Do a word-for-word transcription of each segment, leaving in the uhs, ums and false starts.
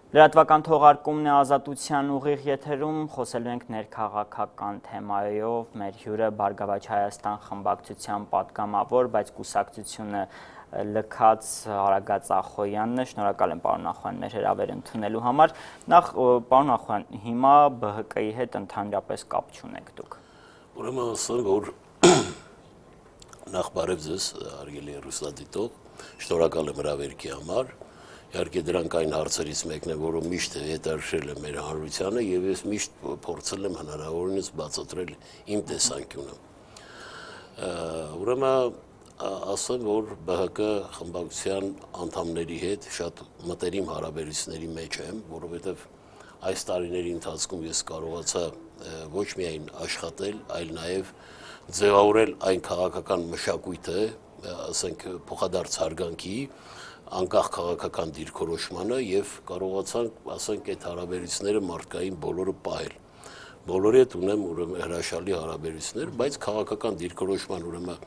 Լրատվական թողարկումն է Ազատության ուղիղ եթերում, խոսելու ենք ներքաղաքական թեմայով, մեր հյուրը Բարգավաճ Հայաստան խմբակցության պատգամավոր, բայց կուսակցությունը լքած Արագած Ախոյանն է, շնորհակալ եմ պարոն Ախոյան մեր հրավերը ընդունելու համար։ Նախ պարոն Ախոյան, հիմա B H K-ի հետ ընդհանրապես կապ չունեք դուք։ Ուրեմն ասեմ, որ նախ բարև ձեզ, հարգելի հեռուստադիտող, շնորհակալ եմ հրավերքի համար։ Իհարկե դրանք այն հարցերից մեկն է, որը միշտ հետաքրքրել է մեր հանրությանը եւ ես միշտ փորձել եմ հնարավորինս բացատրել իմ տեսանկյունը։ Ուրեմն ասեմ, որ B H K խմբակցության անդամների հետ շատ մտերիմ հարաբերությունների մեջ եմ, որովհետեւ այս տարիների ընթացքում ես կարողացա ոչ միայն աշխատել, այլ նաեւ ձևավորել այն քաղաքական մշակույթը, ասենք փոխադարձ հարգանքի անկախ քաղաքական դիրքորոշմանը եւ կարողացանք, ասենք, այդ հարաբերությունները մարդկային բոլորը պահել։ Բոլորի հետ ունեմ ուրեմն հրաշալի հարաբերություններ, բայց քաղաքական դիրքորոշման ուրեմն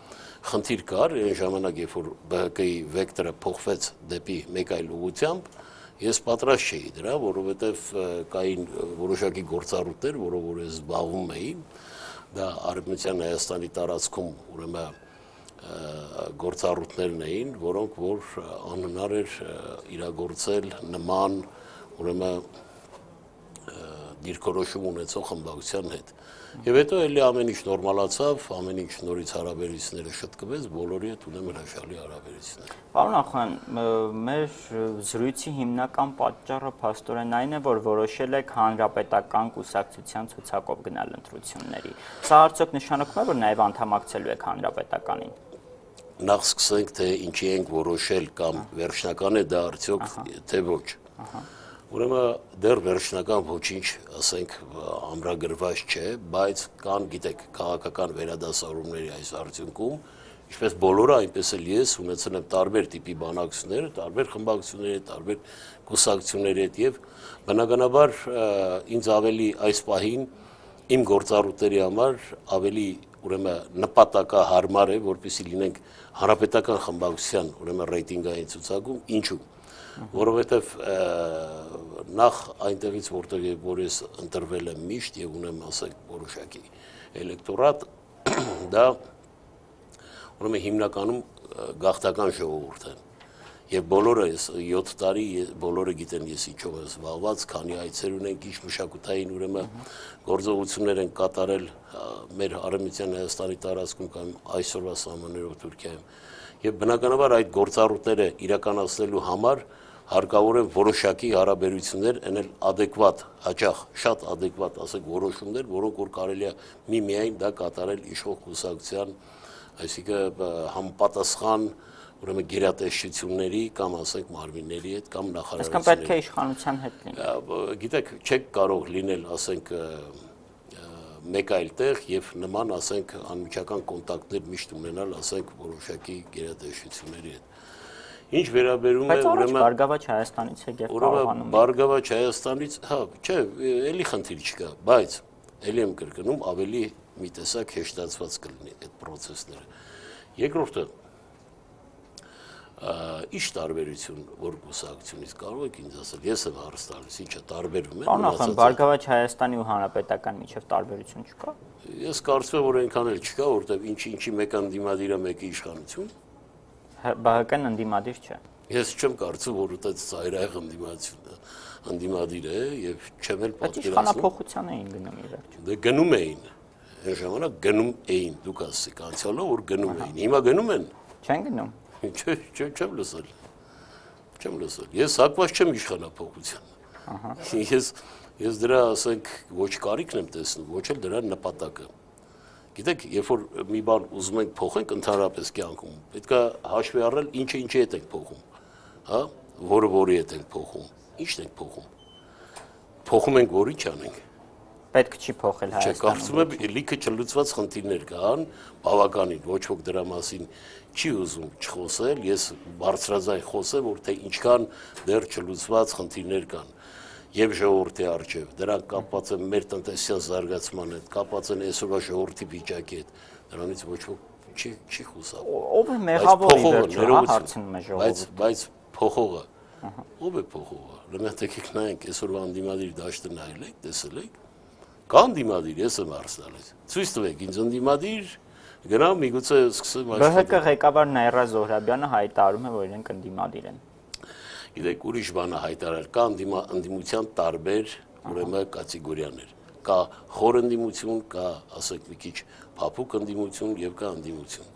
խնդիր կար, այն ժամանակ, երբ որ B H K-ի վեկտորը փոխվեց դեպի մեկ այլ ուղղությամբ, ես պատրաստ չէի դրա, որովհետեւ կային որոշակի գործառույթներ, որով որ ես զբաղվում էի, դա Արևմտյան Հայաստանի տարածքում ուրեմն գործառույթներն էին, որոնք որ անհնար էր իրագործել նման ուրեմն դիրքորոշում ունեցող խմբակցության հետ։ Եվ հետո էլի ամեն ինչ նորմալացավ, ամեն ինչ նորից հարաբերությունները շտկվեց, բոլորի հետ ունեմ հրաշալի հարաբերություններ։ Պարոն Ախոյան, մեր զրույցի հիմնական պատճառը փաստորեն այն է, որ որոշել եք հանրապետական կուսակցության ցուցակով գնալ ընտրությունների։ Սա արդյոք նշանակում է, որ նաև անդամակցելու եք հանրապետականին։ Նախ սկսենք, թե ինչի ենք որոշել կամ վերջնական է դա արդյոք, թե ոչ։ Ուրեմն դեռ վերջնական ոչինչ, ասենք, ամրագրված չէ, բայց կան, գիտեք, քաղաքական վերադասավորումների այս արդյունքում, ինչպես բոլորը, այնպես էլ ես ունեցել եմ տարբեր տիպի բանակցություններ, տարբեր խմբակցությունների հետ, տարբեր կուսակցությունների հետ եւ բնականաբար ինձ ավելի այս պահին իմ գործառույթների համար ավելի ուրեմն նպատակահարմար է, որպեսզի լինենք հանրապետական խմբակցության ուրեմն ռեյտինգային ցուցակում, ինչու, որովհետև նախ այնտեղից որտեղ որ ես ընտրվել եմ միշտ եւ ունեմ, ասենք, որոշակի էլեկտորատ, դա ուրեմն հիմնականում գաղթական ժողովուրդ է։ Եվ բոլորը յոթ տարի բոլորը գիտեն ես ինչով եմ զբաղված, քանի այցեր ունենք, ինչ մշակութային ուրեմն գործողություններ են կատարել մեր Արևմտյան Հայաստանի տարածքում կամ այսօրվա սահմաններով Թուրքիայում։ Եվ բնականաբար այդ գործառույթները իրականացնելու համար հարկավոր են որոշակի հարաբերություններ, այնել ադեկվատ, հաճախ շատ ադեկվատ, ասենք, որոշումներ, որոնք որ կարելի է միմիայն դա կատարել իշխող կուսակցության, այսինքն համապատասխան ուրեմն գերատեսչությունների կամ ասենք մարմինների հետ կամ նախարարությունների։ Այսինքն պետք է իշխանության հետ լինի։ Գիտեք, չեք կարող լինել, ասենք, մեկ այլ տեղ եւ նման, ասենք, անմիջական կոնտակտներ միշտ ունենալ, ասենք, որոշակի գերատեսչությունների հետ։ Ինչ վերաբերում է ուրեմն Բարգավաճ Հայաստանից եք եւ կարողանում եք։ Բարգավաճ Հայաստանից, հա, չէ, էլի խնդիր չկա, բայց էլի եմ կրկնում, ավելի մի տեսակ հեշտացված կլինի այդ process-ները։ Երկրորդը Ինչ տարբերություն որ կուսակցությունից կարող եք ինձ ասել, ես եմ հարց տալիս, ինչը տարբերում է։ Պարոն Ախոյան, Բարգավաճ Հայաստանի ու հանրապետական միջև տարբերություն չկա։ Ես կարծում եմ, որ այնքան էլ չկա, որտեղ ինչի ինչի մեկ անդիմադիր է, մեկը իշխանություն։ B H K-ն անդիմադիր չէ։ Ես չեմ կարծում, որ այդպես ծայրահեղ անդիմադիր անդիմադիր է եւ չեմ էլ պատկերացնում։ Իշխանափոխության էին գնում ի վերջո։ Դե գնում էին։ Այն ժամանակ գնում էին, դուք ասեք, անցյալով որ գնում էին։ Հիմա գնում են։ Չեն գնում։ Չէ, չէ, չեմ լսել։ Չեմ լսել։ Ես հակված չեմ իշխանափոխության։ Ահա։ Ես ես դրա, ասենք, ոչ կարիքն եմ տեսնում, ոչ էլ դրա նպատակը։ Գիտեք, երբ որ մի բան ուզում ենք փոխենք ընդհանրապես կյանքում, պետք է հաշվի առնել ինչը ինչի հետ ենք փոխում, հա, որը որի հետ ենք փոխում, ի՞նչն ենք փոխում։ Փոխում ենք որի չանենք։ Պետք չի փոխել Հայաստանում։ Չէ, կարծում եմ լիքը չլուծված խնդիրներ կան, բավականին, ոչ ոք դրա մասին չի ուզում չխոսել, ես բարձրաձայն խոսեմ, որ թե ինչքան դեռ չլուծված խնդիրներ կան։ Եվ ժողովրդի առջև, դրանք կապված են մեր տնտեսության զարգացման հետ, կապված են այսօրվա ժողովրդի վիճակի հետ, դրանից ոչ ոք չի չի խոսա։ Ով է մեղավոր ի վերջո, հարցնում է ժողովուրդը։ Բայց բայց փոխողը Ով է փոխողը։ Լենատ եկեք նայենք այսօրվա ընդդիմադիր դաշտը նայել եք, տեսել եք։ Կա ընդդիմադիր, ես եմ հարցնալիս։ Ցույց տվեք ինձ ընդդիմադիր, գնամ միգուցե սկսեմ աշխատել։ ԲՀԿ ղեկավար Նաիրա Զոհրաբյանը հայտարարում է, որ իրենք ընդդիմադիր են։ Գիտեք, ուրիշ բան է հայտարարել, կա ընդդիմության տարբեր ուրեմն կատեգորիաներ։ Կա խոր ընդդիմություն, կա, ասենք, մի քիչ փափուկ ընդդիմություն եւ կա ընդդիմություն։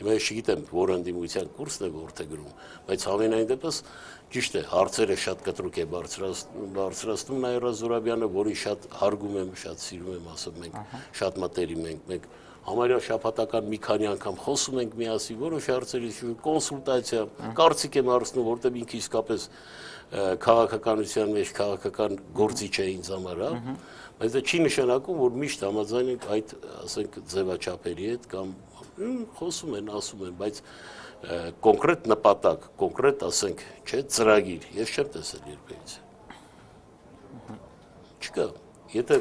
Հիմա ես չգիտեմ, որ ընդդիմության կուրսն է որտե գրում, բայց համենայն դեպս ճիշտ է, հարցերը շատ կտրուկ է բարձրացնում Նաիրա Զոհրաբյանը, որի շատ հարգում եմ, շատ սիրում եմ, ասում ենք, շատ մտերիմ ենք, մենք համարյա շաբաթական մի քանի անգամ խոսում ենք միասին, որոշ հարցերի կոնսուլտացիա, կարծիք եմ հարցնում, որտեղ ինքը իսկապես քաղաքականության մեջ քաղաքական գործիչ է ինձ համար, հա, բայց դա չի նշանակում, որ միշտ համաձայն ենք այդ, ասենք, ձևաչափերի հետ կամ խոսում են, ասում են, բայց կոնկրետ նպատակ, կոնկրետ, ասենք, չէ, ծրագիր, ես չեմ տեսել երբևիցե։ Չկա, եթե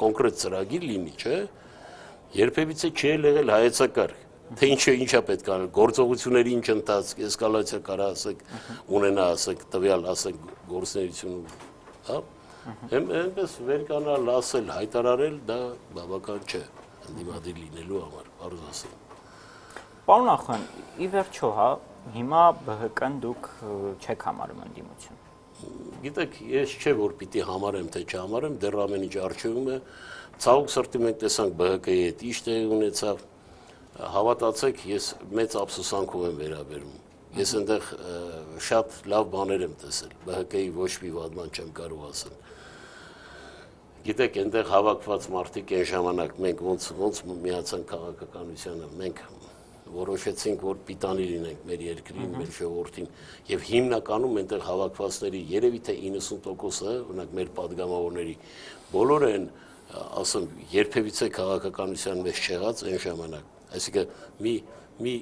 կոնկրետ ծրագիր լինի, չէ, երբևիցե չի եղել հայեցակարգ, թե ինչը ինչա պետք է անել, գործողությունների ինչ ընթացք, էսկալացիա կարա, ասենք, ունենա, ասենք, տվյալ, ասենք, գործունեություն, հա, այնպես վերկանալ, ասել, հայտարարել, դա բավական չէ, ընդդիմադիր լինելու համար, բարձ ասել։ Պարոն Ախոյան, ի վերջո, հա, հիմա ԲՀԿ-ն դուք չեք համարում ընդդիմություն։ Գիտեք, ես չէ որ պիտի համարեմ, թե չհամարեմ, դեռ ամեն ինչ առջևում է, ցավոք սրտի մենք տեսանք ԲՀԿ-ի հետ ինչ տեղի ունեցավ, հավատացեք, ես մեծ ափսոսանքով եմ վերաբերում։ Ես այնտեղ շատ լավ բաներ եմ տեսել, ԲՀԿ-ի ոչ մի վատ բան չեմ կարող ասել։ Գիտեք, այնտեղ հավաքված մարդիկ այն ժամանակ մենք ոնց ոնց միացան քաղաքականությանը, մենք որոշեցինք, որ պիտանի լինենք մեր երկրին, մեր ժողովրդին, եւ հիմնականում այնտեղ հավաքվածների երևի թե իննսուն տոկոսը, օրինակ մեր падգամավորների, բոլորը են, ասեմ, երբևիցե քաղաքականության մեջ չեղած այն ժամանակ։ Այսինքն մի մի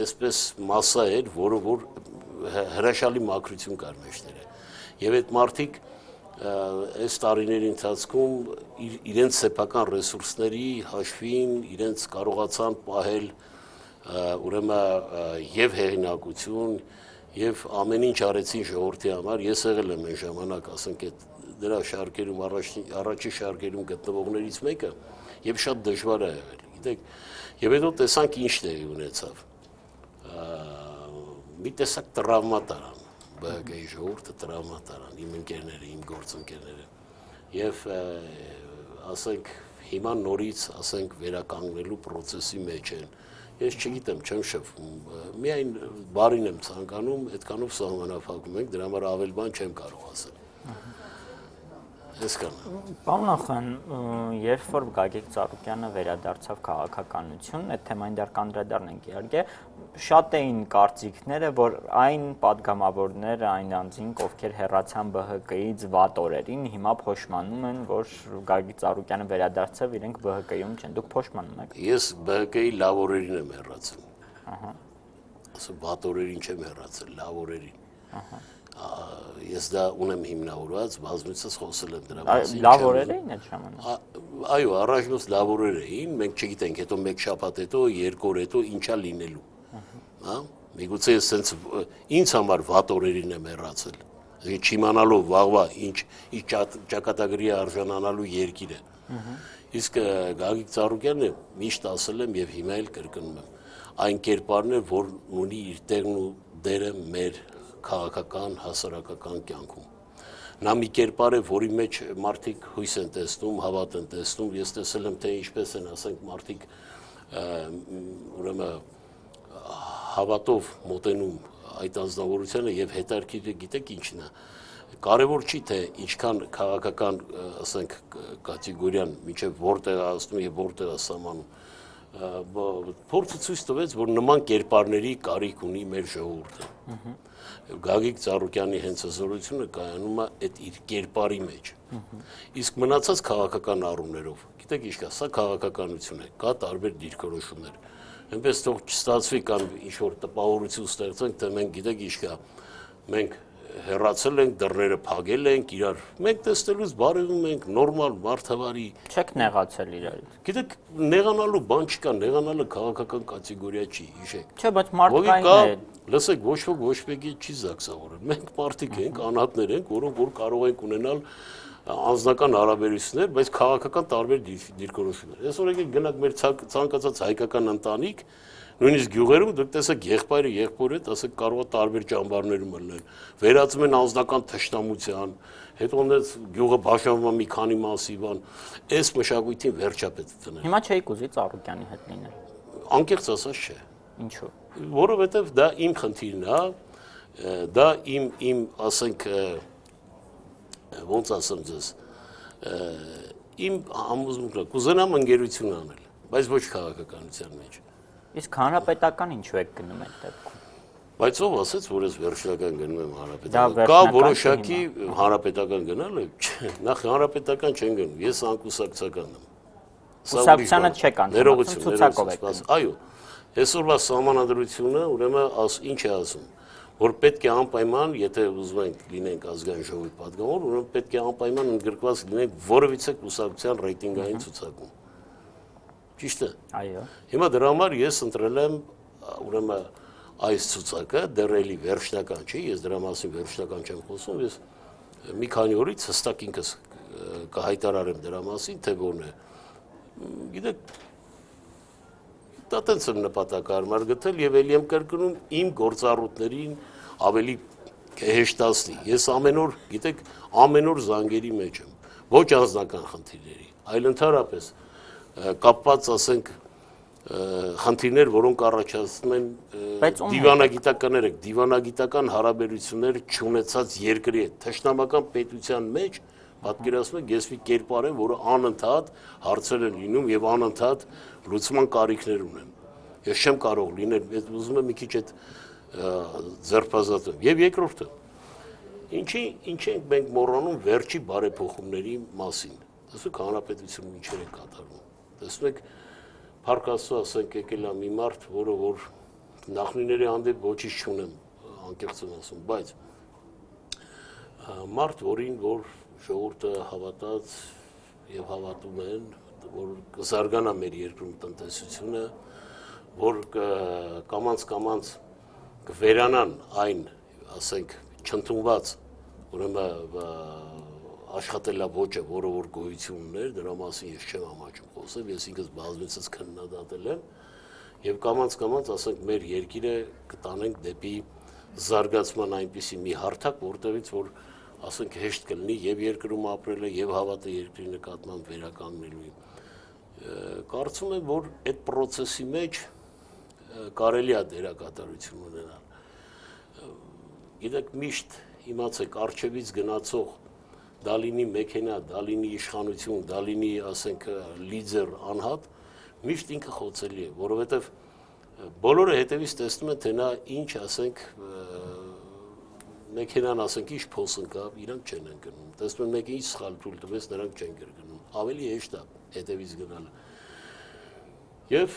այսպես մասսա էր, որը որ հրաշալի մաքրություն կար մեջները։ Եվ այդ մարդիկ այս տարիների ընթացքում իրենց սեփական ռեսուրսների հաշվին իրենց կարողացան պահել ուրեմն եւ հեղինակություն եւ ամեն ինչ արեցին ժողովրդի համար։ Ես եղել եմ այն ժամանակ, ասենք, այդ դրա շարքերում առաջի շարքերում գտնվողներից մեկը եւ շատ դժվար է եղել, գիտեք։ Եվ հետո տեսանք ինչ տեղի ունեցավ։ Մի տեսակ տրավմա տարան, ԲՀԿ-ի ժողովուրդը տրավմա տարան, իմ ընկերները, իմ գործընկերները։ Եվ ասենք հիմա նորից, ասենք, վերականգնելու process-ի մեջ են։ Ես չգիտեմ, չեմ շփվում, միայն բարին եմ ցանկանում, այդքանով սահմանափակում ենք, դրա համար ավել բան չեմ կարող ասել։ Պարոն Ախոյան, երբ որ Գագիկ Ծառուկյանը վերադարձավ քաղաքականություն, այդ թեմային դեռ կանդրադառնանք իհարկե, շատ էին կարծիքները, որ այն падգամավորները, այն անձինք, ովքեր հեռացան ԲՀԿ-ից վատ օրերին, հիմա փոշմանում են, որ Գագիկ Ծառուկյանը վերադարձավ, իրենք ԲՀԿ-ում չեն։ Դուք փոշմանում եք։ Ես ԲՀԿ-ի լավ օրերին եմ հեռացել։ Ահա։ Ասում վատ օրերին չեմ հեռացել, լավ օրերին։ Ահա։ Ես դա ունեմ հիմնավորված, բազմիցս խոսել եմ դրա մասին։ Լավ օրեր էին այդ ժամանակ։ Այո, առաջնոց լավ օրեր էին, մենք չգիտենք, հետո մեկ շաբաթ հետո, երկու օր հետո ինչա լինելու։ Հա? Միգուցե ես sense ինձ համար վատ օրերին եմ հեռացել։ Չիմանալով վաղվա ինչ ինչ ճակատագրի արժանանալու երկիր է։ Իսկ Գագիկ Ծառուկյանը միշտ ասել եմ եւ հիմա էլ կրկնում եմ, այն կերպարն է, որ ունի իր տեղն ու դերը մեր քաղաքական, հասարակական կյանքում։ Նա մի կերպար է, որի մեջ մարդիկ հույս են տեսնում, հավատ են տեսնում, ես տեսել եմ, թե ինչպես են, ասենք, մարդիկ ուրեմն հավատով մոտենում այդ անձնավորությանը եւ հետարքիրը գիտեք ինչն է։ Կարևոր չի թե ինչքան քաղաքական, ասենք, կատեգորիան միջև որտեղ է ասնում եւ որտեղ է սահմանում։ Փորձը ցույց տվեց, որ նման կերպարների կարիք ունի մեր ժողովուրդը։ Գագիկ Ծառուկյանի հենց հզորությունը կայանում է այդ իր կերպարի մեջ։ Իսկ մնացած քաղաքական առումներով, գիտեք ինչ կա, սա քաղաքականություն է, կա տարբեր դիրքորոշումներ։ Այնպես թող չստացվի կամ ինչ որ տպավորություն ստեղծենք, թե մենք գիտեք ինչ կա, մենք հեռացել ենք, դռները փակել ենք, իրար մենք տեսնելուց բարևում ենք, նորմալ մարդավարի։ Չեք նեղացել իրարից։ Գիտեք, նեղանալու բան չկա, նեղանալը քաղաքական կատեգորիա չի, հիշեք։ Չէ, բայց մարդկային է։ Լսեք, ոչ ոք ոչ մեկի չի զաքսավորել։ Մենք մարդիկ ենք, անհատներ ենք, որոնք որ կարող ենք ունենալ անձնական հարաբերություններ, բայց քաղաքական տարբեր դիրքորոշումներ։ Այսօր եկեք գնանք մեր ցանկացած հայկական ընտանիք, նույնիսկ գյուղերում դուք տեսեք եղբայրը եղբորը, ասեք կարող է տարբեր ճամբարներում լինել։ Վերածում են անձնական թշնամության, հետո այնպես գյուղը բաժանվում է մի քանի մասի, բան, այս մշակույթին վերջապես դնել։ Հիմա չէի կուզի Ծառուկյանի հետ լինել։ Անկեղծ ասած չէ։ Ինչու՞։ Որովհետև դա իմ խնդիրն է, դա իմ իմ ասենք ոնց ասեմ ձեզ, իմ համոզմունքն է, կուզենամ ընկերություն անել, բայց ոչ քաղաքականության մեջ։ Իսկ հանրապետական ինչու եք գնում այդ դեպքում։ Բայց ով ասեց, որ ես վերջնական գնում եմ հանրապետական։ Կա որոշակի հանրապետական գնալը, նախ հանրապետական չեն գնում, ես անկուսակցական եմ։ Կուսակցությանը չեք անդամակցում, ցուցակով եք գնում։ Այո, այսօրվա սահմանադրությունը ուրեմն ինչ է ասում, որ պետք է անպայման, եթե ուզում ենք լինենք ազգային ժողովի պատգամավոր, ուրեմն պետք է անպայման ընդգրկված լինենք որևիցե կուսակցության ռեյտինգային ցուցակում։ Ճիշտ է։ Այո։ Հիմա դրա համար ես ընտրել եմ ուրեմն այս ցուցակը, դեռ էլի վերջնական չի, ես դրա մասին վերջնական չեմ խոսում, ես մի քանի օրից հստակ ինքս կհայտարարեմ դրա մասին, թե որն է։ Գիտեք, դա տենց եմ նպատակարար գտել եւ ելի եմ կրկնում իմ գործառույթներին ավելի հեշտացնի։ Ես ամեն օր, գիտեք, ամեն օր զանգերի մեջ եմ, ոչ անձնական խնդիրների, այլ ընդհանրապես կապված, ասենք, խնդիրներ, որոնք առաջացնում են դիվանագիտականներ, դիվանագիտական հարաբերություններ չունեցած երկրի հետ, թշնամական պետության մեջ պատկերացնում եք, ես մի կերպար եմ, որը անընդհատ հարցեր են լինում եւ անընդհատ լուծման կարիքներ ունեն։ Ես չեմ կարող լինել, ուզում եմ մի քիչ այդ ձերբազատում։ Եվ երկրորդը, ինչի ինչ ենք մենք մոռանում վերջի բարեփոխումների մասին։ Տեսեք, հանրապետությունում ինչեր են կատարվում։ Տեսնում եք, Փառք Աստծո, ասենք եկել է մի մարդ, որը որ նախնիների հանդեպ ոչինչ չունեմ, անկեղծ եմ ասում, բայց մարդ, որին որ ժողովուրդը հավատաց եւ հավատում են, որ կզարգանա մեր երկրում տնտեսությունը, որ կամանց-կամանց կվերանան այն, ասենք, չընդունված, ուրեմն աշխատելավոճը, որը որ գոյություն ուներ, դրա մասին ես չեմ համաչում խոսել, ես ինքս բազմիցս քննադատել եմ եւ կամանց-կամանց, ասենք, մեր երկիրը կտանենք դեպի զարգացման այնպիսի մի հարթակ, որտեղից որ ասենք հեշտ կլինի եւ երկրում ապրելը եւ հավատը երկրի նկատմամբ վերականգնելու։ Կարծում եմ, որ այդ process-ի մեջ կարելի է դերակատարություն ունենալ։ Գիտեք, միշտ իմացեք, արչեվից գնացող դա լինի մեքենա, դա լինի իշխանություն, դա լինի, ասենք, լիդեր անհատ, միշտ ինքը խոցելի է, որովհետեւ բոլորը հետևից տեսնում են, թե նա ինչ, ասենք, մեքենան, ասենք, ինչ փոսնկավ, իրանք չեն ընկնում։ Տեսնում են մեկը ինչ սխալ թույլ տվեց, նրանք չեն կրկնում։ Ավելի հեշտ է հետևից գնալը։ Եվ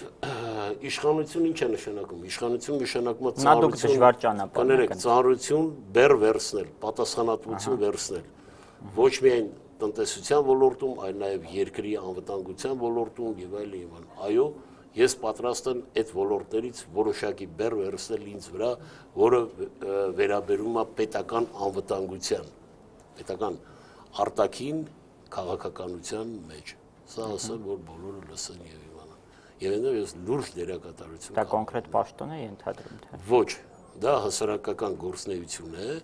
իշխանություն ինչ է նշանակում։ Իշխանություն նշանակում է ծանրություն, ծանրություն բեր վերցնել, պատասխանատվություն վերցնել։ Ոչ միայն տնտեսության ոլորտում, այլ նաև երկրի անվտանգության ոլորտում եւ այլն եւ այլն։ Այո, ես պատրաստ եմ այդ ոլորտներից որոշակի բեր վերցնել ինձ վրա, որը վերաբերում է պետական անվտանգության, պետական արտաքին քաղաքականության մեջ։ Սա ասեմ, որ բոլորը լսեն եւ իմանան։ Եվ այնտեղ ես լուրջ դերակատարություն։ Դա կոնկրետ պաշտոն է ենթադրում թե։ Ոչ, դա հասարակական գործունեություն է։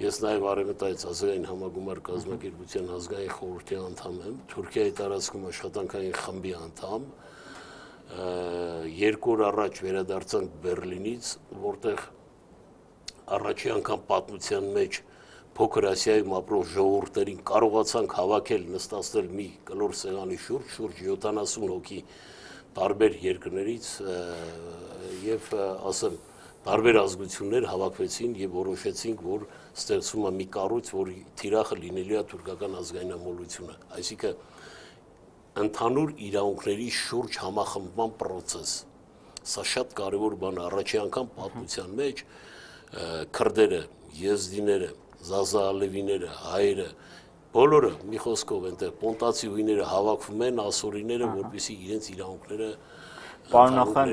Ես նաև Արևմտայից ազգային համագումար կազմակերպության ազգային խորհրդի անդամ եմ, Թուրքիայի տարածքում աշխատանքային խմբի անդամ, երկու օր առաջ վերադարձանք Բերլինից, որտեղ առաջի անգամ պատմության մեջ փոքր Ասիայում ապրող ժողովուրդներին կարողացանք հավաքել, նստացնել մի կլոր սեղանի շուրջ, շուրջ յոթանասուն հոգի տարբեր երկրներից եւ ասեմ տարբեր ազգություններ հավաքվեցին եւ որոշեցինք, որ ստեղծվում է մի կառույց, որի թիրախը լինելու է թուրքական ազգայնամոլությունը, այսինքն ընդհանուր իրավունքների շուրջ համախմբման process։ Սա շատ կարևոր բան է, առաջի անգամ պատմության մեջ քրդերը, եզդիները, Զազա Ալևիները, հայերը, բոլորը մի խոսքով այնտեղ պոնտացի հույները հավաքվում են ասորիները, որպեսզի իրենց իրավունքները Պարոն Նախան,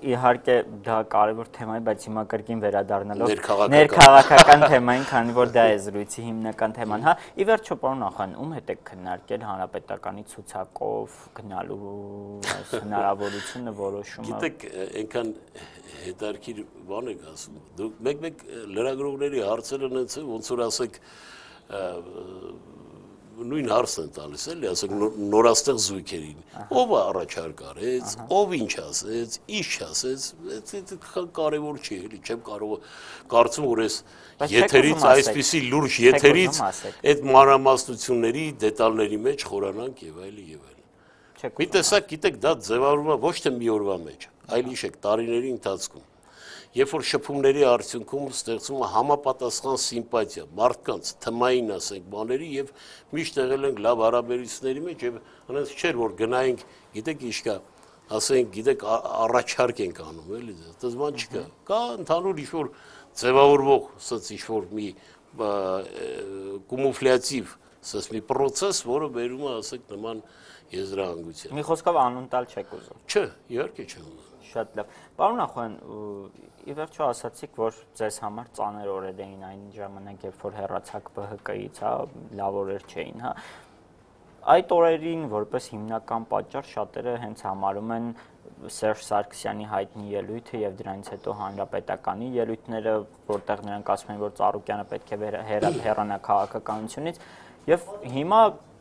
իհարկե դա կարևոր թեմա է, բայց հիմա կրկին վերադառնալով ներքաղաքական թեմային, քանի որ դա է զրույցի հիմնական թեման, հա, ի վերջո պարոն Նախան, ում հետ եք քննարկել հանրապետականի ցուցակով գնալու այս հնարավորությունը որոշումը։ Գիտեք, այնքան հետարքիր բան եք ասում։ Դուք մեկ-մեկ լրագրողների հարցերը ունեցեք, ոնց որ ասեք նույն հարցն են տալիս, էլի, ասենք նորաստեղ զույգերին, ով առաջարկ արեց, ով ինչ ասեց, ինչ չասեց, դա կարևոր չի, էլի, չեմ կարող կարծում, որ այս եթերից այսպիսի լուրջ եթերից այդ մանրամասնությունների դետալների մեջ խորանանք եւ այլ եւ այլ։ Մի տեսակ, գիտեք, դա ձևավորվում է ոչ թե մի օրվա մեջ, այլ իշեք տարիների ընթացքում։ Երբ որ շփումների արդյունքում ստեղծվում է համապատասխան սիմպաթիա, մարդկանց թմային, ասենք, բաների եւ միշտ եղել ենք լավ հարաբերությունների մեջ եւ հենց չէր որ գնայինք, գիտեք ինչ կա, ասենք, գիտեք, առաջարկ ենք անում, էլի, դա բան չկա։ Կա ընդհանուր ինչ-որ ձևավորվող, ասած ինչ-որ մի կումուլյատիվ, ասած մի process, որը բերում է, ասենք, նման եզրահանգության։ Մի խոսքով անուն տալ չեք ուզում։ Չէ, իհարկե չեմ ուզում։ Շատ լավ։ Պարոն Նախոյան, ի վերջո ասացիք, որ ձեզ համար ծանր օրեր էին այն ժամանակ, երբ որ հեռացաք Բ Հ Կ-ից, հա, լավ օրեր չէին, հա։ Այդ օրերին որպես հիմնական պատճառ շատերը հենց համարում են Սերժ Սարգսյանի հայտնի ելույթը եւ դրանից հետո հանրապետականի ելույթները, որտեղ նրանք ասում են, որ Ծառուկյանը պետք է հեռանա քաղաքականությունից եւ հիմա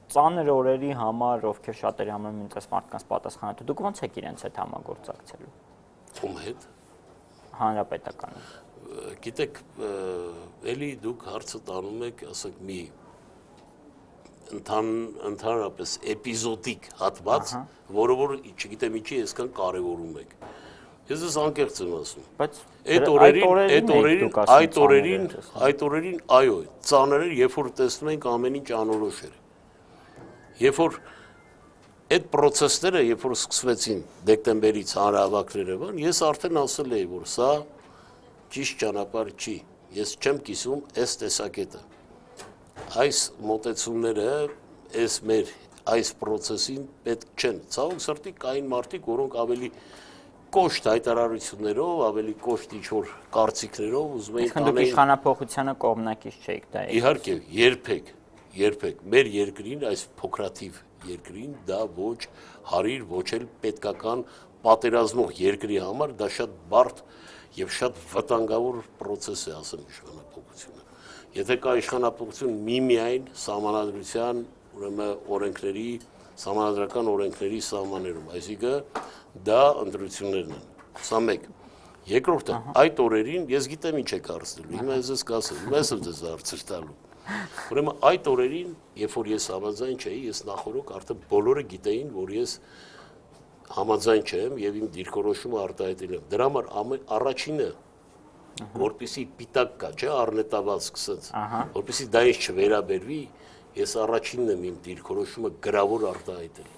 ծանր օրերի համար, ովքեր շատերի համար մինչ այս մարդկանց պատասխանատու, դուք ո՞նց եք իրենց հետ համագործակցելու։ Ում հետ։ Հանրապետականը։ Գիտեք, էլի դուք հարցը տանում եք, ասենք, մի ընդհանրապես էպիզոդիկ հատված, որը որ չգիտեմ ինչի այսքան կարևորում եք։ Ես ես անկեղծ եմ ասում։ Բայց այդ օրերին, այդ օրերին, այդ օրերին, այդ օրերին, այո, ծանր էր, երբ որ տեսնում ենք ամեն ինչ անորոշ էր։ Երբ որ այդ process-ները, երբ որ սկսվեցին դեկտեմբերից հանրահավաքները, բան, ես արդեն ասել էի, որ սա ճիշտ ճանապարհ չի։ Ես չեմ կիսում այս տեսակետը։ Այս մոտեցումները, այս մեր այս process-ին պետք չեն։ Ցավոք սրտի կային մարդիկ, որոնք ավելի կոշտ հայտարարություններով, ավելի կոշտ ինչ-որ կարծիքներով ուզում էին տանել։ Դուք իշխանափոխությանը կողմնակից չէիք դա։ Իհարկե, երբեք, երբեք մեր երկրին, այս փոքրաթիվ երկրին դա ոչ հարիր, ոչ էլ պետքական պատերազմող երկրի համար դա շատ բարդ եւ շատ վտանգավոր process է, ասեմ, իշխանափոխությունը։ Եթե կա իշխանափոխություն միմիայն սահմանադրության, ուրեմն օրենքների, սահմանադրական օրենքների սահմաններում, այսինքն դա ընտրություններն են։ Սա մեկ։ Երկրորդը, այդ օրերին ես գիտեմ ինչ եք հարցնելու, հիմա ես ես կասեմ, հիմա ես եմ ձեզ հարցեր տալու։ Ուրեմն այդ օրերին, երբ որ ես համաձայն չէի, ես նախորոք արդեն բոլորը գիտեին, որ ես համաձայն չեմ եւ իմ դիրքորոշումը արտահայտել եմ։ Դրա համար առաջինը, որպեսի պիտակ կա, չէ, առնետավալ սկսած, որպեսի դա ինձ չվերաբերվի, ես առաջինն եմ իմ դիրքորոշումը գրավոր արտահայտել։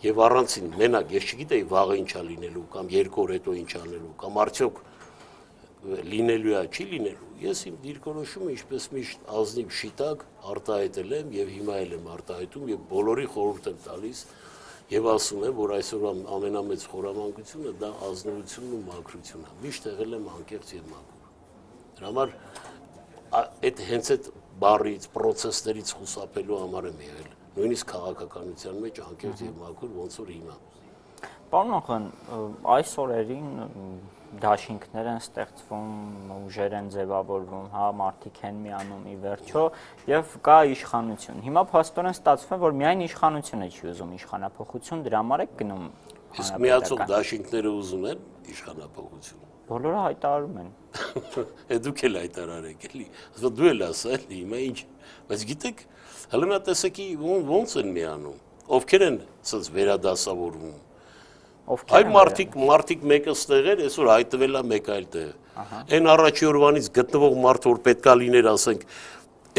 Եվ առանցին մենակ ես չգիտեի վաղը ինչա լինելու կամ երկու օր հետո ինչ անելու կամ արդյոք լինելու է, չի լինելու։ Ես իմ դիրքորոշումը ինչպես միշտ ազնիվ շիտակ արտահայտել եմ եւ հիմա էլ եմ արտահայտում եւ բոլորի խորհուրդ եմ տալիս եւ ասում եմ, որ այսօր ամենամեծ խորամանկությունը դա ազնվությունն ու մաքրությունն է։ Միշտ եղել եմ անկեղծ եւ մաքուր։ Դրա համար այդ հենց այդ բառից, process-ներից խուսափելու համար եմ եղել։ Նույնիսկ քաղաքականության մեջ անկեղծ եւ մաքուր ոնց որ հիմա։ Պարոն Նախոյան, այս օրերին դաշինքներ են ստեղծվում, ուժեր են ձևավորվում, հա, մարդիկ են միանում ի վերջո եւ կա իշխանություն։ Հիմա փաստորեն ստացվում է, որ միայն իշխանությունը չի ուզում իշխանափոխություն, դրա համար է գնում։ Իսկ միացող դաշինքները ուզում են իշխանափոխություն։ Բոլորը հայտարարում են։ Է դուք էլ հայտարարեք էլի։ Ասա դու էլ ասա էլի, հիմա ինչ։ Բայց գիտեք, հələ նա տեսակի ոնց են միանում։ Ովքեր են ասած վերադասավորվում։ Այ մարդիկ, մարդիկ մեկը ստեղ էր, այսօր հայտնվել է մեկ այլ տեղ։ Այն առաջի օրվանից գտնվող մարդ, որ պետքա լիներ, ասենք,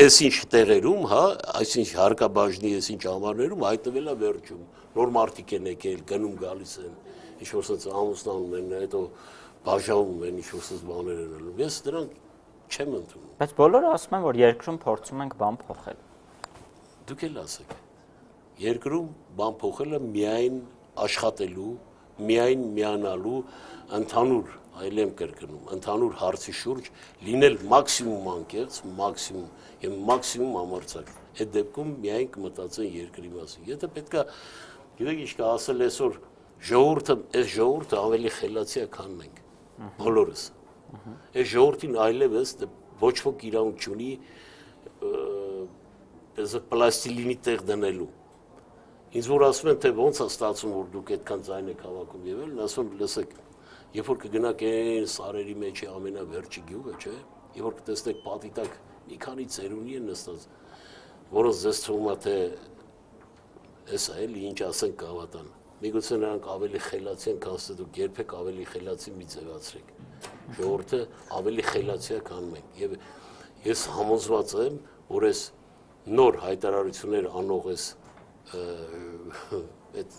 այսինչ տեղերում, հա, այսինչ հարկաբաժնի, այսինչ ամառներում հայտնվել է վերջում։ Նոր մարդիկ են եկել, գնում գալիս են, ինչ-որ ասած ամուսնանում են, հետո բաժանում են, ինչ-որ ասած բաներ են անում։ Ես դրանք չեմ ընդունում։ Բայց բոլորը ասում են, որ երկրում փորձում ենք բան փոխել։ Դուք էլ ասեք։ Երկրում բան փոխելը միայն աշխատելու, միայն միանալու, ընդհանուր, այլ եմ կրկնում, ընդհանուր հարցի շուրջ լինել մաքսիմում անկեղծ, մաքսիմում եւ մաքսիմում համարձակ։ Այդ դեպքում միայն կմտածեն երկրի մասին։ Եթե պետքա, գիտեք ինչ կա ասել այսօր ժողովուրդը, այս ժողովուրդը ավելի խելացի է, քան մենք, բոլորս։ Այս ժողովրդին այլևս ոչ ոք իրավունք չունի այսը պլաստիլինի տեղ դնելու։ Ինձ որ ասում են, թե ոնց է ստացվում, որ դուք այդքան ձայն եք հավաքում եւ այլն, ասում եմ, լսեք, երբ որ կգնաք այն սարերի մեջ ամենավերջի գյուղը, չէ՞, երբ որ կտեսնեք պատի տակ մի քանի ծերունի են նստած, որոնց ձեզ թվում է, թե էսա էլի ինչ ասեն կհավատան։ Միգուցե նրանք ավելի խելացի են, քան դուք երբեք ավելի խելացի մի ձևացրեք։ Ժողովուրդը ավելի խելացի է, քան մենք։ Եվ ես համոզված եմ, որ այս նոր հայտարարություններ անող այս այդ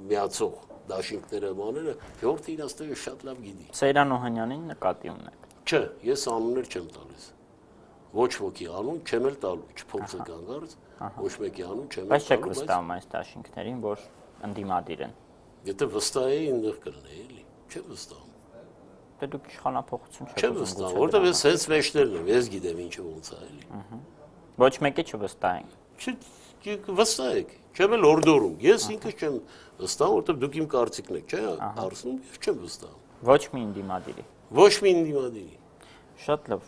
միացող դաշինքները բաները ժողովուրդը իրաց տեղը շատ լավ գիտի։ Սեյրան Օհանյանին նկատի ունեք։ Չէ, ես անուններ չեմ տալիս։ Ոչ ոքի անուն չեմ էլ տալու, չփորձեք անգարց, ոչ մեկի անուն չեմ էլ տալու, բայց չեք վստահում այս դաշինքներին, որ ընդդիմադիր են։ Եթե վստահ էի, այնտեղ կլինեի, էլի, չեմ վստահում։ Դե դուք իշխանափոխություն չեք չեմ վստահում, որտեղ ես հենց մեջներն եմ, ես գիտեմ ինչը ոնց է, էլի։ Ոչ մեկի չվստահենք։ Վստահ եք, չեմ էլ օրդորում, ես ինքս չեմ վստահում, որտեղ դուք իմ կարծիքն եք, չէ՞, հարցնում, ես չեմ վստահում։ Ոչ մի ընդդիմադիրի։ Ոչ մի ընդդիմադիրի։ Շատ լավ,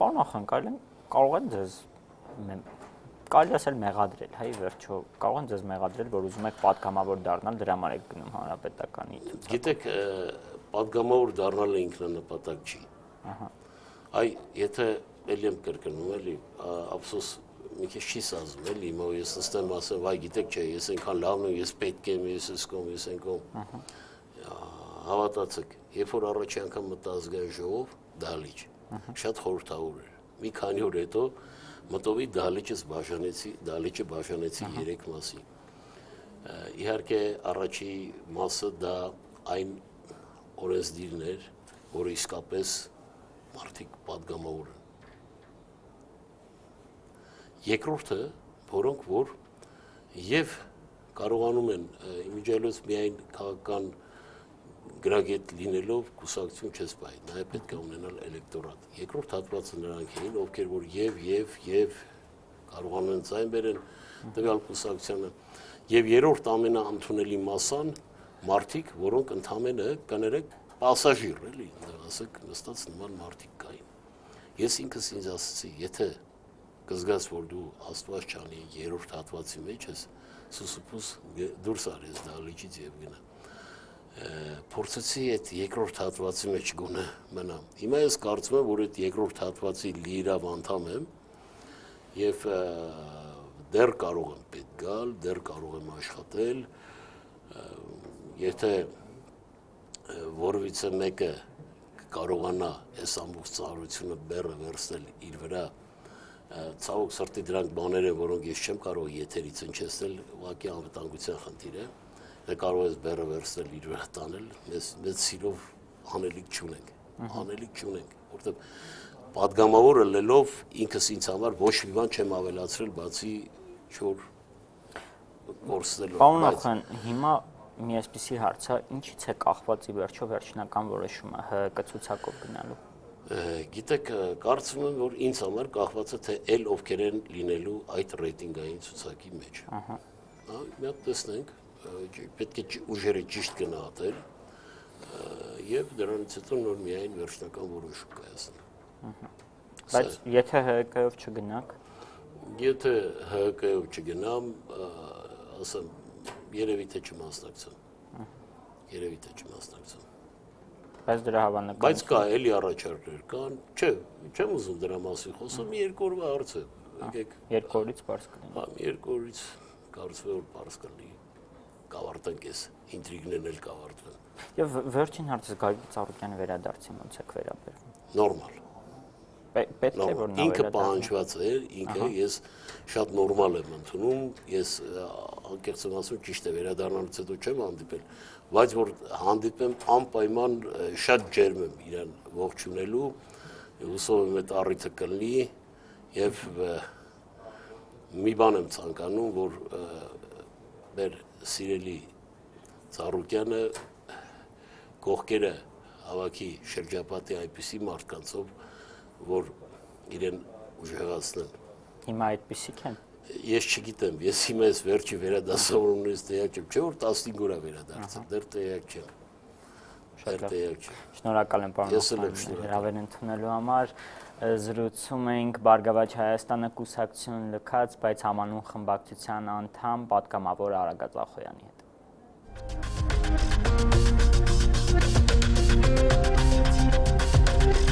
պարոն Նախանկալյան, կարող են ձեզ կարելի ասել մեղադրել, հայ վերջո, կարող են ձեզ մեղադրել, որ ուզում եք պատգամավոր դառնալ, դրա համար եք գնում հանրապետականի ցուցակ։ Գիտեք, պատգամավոր դառնալը ինքնանպատակ չի։ Ահա։ Այ եթե ելի եմ կրկնում, էլի, ափսոս մի քիչ չի սազում, էլի, հիմա ես ստեմ ասեմ, վայ, գիտեք չէ, ես այնքան լավն եմ, ես պետք եմ, ես ես կողմ, ես այնքան։ Հավատացեք, երբ որ առաջի անգամ մտա ազգային ժողով, դահլիճ, շատ խորհրդավոր էր։ Մի քանի օր հետո մտովի դահլիճս բաժանեցի, դահլիճը բաժանեցի երեք մասի։ Իհարկե առաջի մասը դա այն օրենսդիրն էր, որը իսկապես մարդիկ պատգամավոր են։ Երկրորդը, որոնք որ եւ կարողանում են իմիջիալոց միայն քաղաքական գրագետ լինելով կուսակցություն չես բայ, նաեւ պետք է ունենալ էլեկտորատ։ Երկրորդ հատվածը նրանք էին, ովքեր որ եւ եւ եւ կարողանում են ձայն բերեն տվյալ կուսակցությանը, եւ երրորդ ամենաընդունելի մասան մարդիկ, որոնք ընդամենը կներեք պասաժիր, էլի, ասեք նստած նման մարդիկ կային։ Ես ինքս ինձ ասացի, եթե կզգաս, որ դու Աստված չանի երրորդ հատվածի մեջ ես, սուսուփուս դուրս արես դահլիճից եւ գնա։ Փորձեցի այդ երկրորդ հատվածի մեջ գոնե մնամ։ Հիմա ես կարծում եմ, որ այդ երկրորդ հատվածի լիիրավ անդամ եմ եւ դեռ կարող եմ պետք գալ, դեռ կարող եմ աշխատել։ Եթե որևիցե մեկը կարողանա այս ամբողջ ծառայությունը բեռը վերցնել իր վրա, ցավոք սրտի դրանք բաներ են, որոնք ես չեմ կարող եթերից հնչեցնել, ուղղակի անվտանգության խնդիր է։ Դե կարող ես բեռը վերցնել իր վրա տանել, մեզ մեծ սիրով անելիք չունենք, անելիք չունենք, որտեղ պատգամավորը լելով ինքս ինձ համար ոչ մի բան չեմ ավելացրել, բացի չոր կորցնելով։ Պարոն Նախան, հիմա մի այսպիսի հարց է, ինչից է կախված ի վերջո վերջնական որոշումը ՀՀԿ ցուցակով գնալու։ Գիտեք, կարծում եմ, որ ինձ համար կախված է, թե ել ովքեր են լինելու այդ ռեյտինգային ցուցակի մեջ։ Ահա։ Մի հատ տեսնենք, պետք է ուժերը ճիշտ գնահատել եւ դրանից հետո նոր միայն վերջնական որոշում կայացնել։ Բայց եթե ՀՀԿ-ով չգնաք, եթե ՀՀԿ-ով չգնամ, ասեմ, երևի թե չմասնակցեմ։ Երևի թե չմասնակցեմ։ Բայց դրա հավանական։ Բայց կա էլի առաջարկներ կան, չէ, չեմ ուզում դրա մասին խոսեմ, մի երկու օրվա հարց է։ Եկեք։ Երկու օրից բարձ կլինի։ Հա, մի երկու օրից կարծում եմ որ բարձ կլինի։ Կավարտենք էս ինտրիգներն էլ կավարտվեն։ Եվ վերջին հարցը Գագիկ Ծառուկյանի վերադարձին ոնց է վերաբերվում։ Նորմալ։ Պետք է որ նա ինքը պահանջված է, ինքը ես շատ նորմալ եմ ընդունում, ես անկեղծ եմ ասում, ճիշտ է վերադառնալուց հետո չեմ հանդիպել, բայց որ հանդիպեմ անպայման շատ ջերմ եմ իրան ողջունելու Հուսով եմ այդ առիթը կլինի եւ մի բան եմ ցանկանում, որ մեր սիրելի Ծառուկյանը կողքերը հավաքի շրջապատի այնպիսի մարդկանցով, որ իրեն ուժեղացնեն։ Հիմա այդպիսիք են։ Ես չգիտեմ, ես հիմա ես վերջի վերադասավորումից տեղյակ չեմ, չէ՞ որ տասնհինգ օր է վերադարձել, դեռ տեղյակ չեմ։ Դեռ տեղյակ չեմ։ Շնորհակալ եմ, պարոն Օխանյան, հրավեր ընդունելու համար։ Զրուցում էինք Բարգավաճ Հայաստանը կուսակցություն լքած, բայց համանուն խմբակցության անդամ պատգամավոր Արագած Ախոյանի հետ։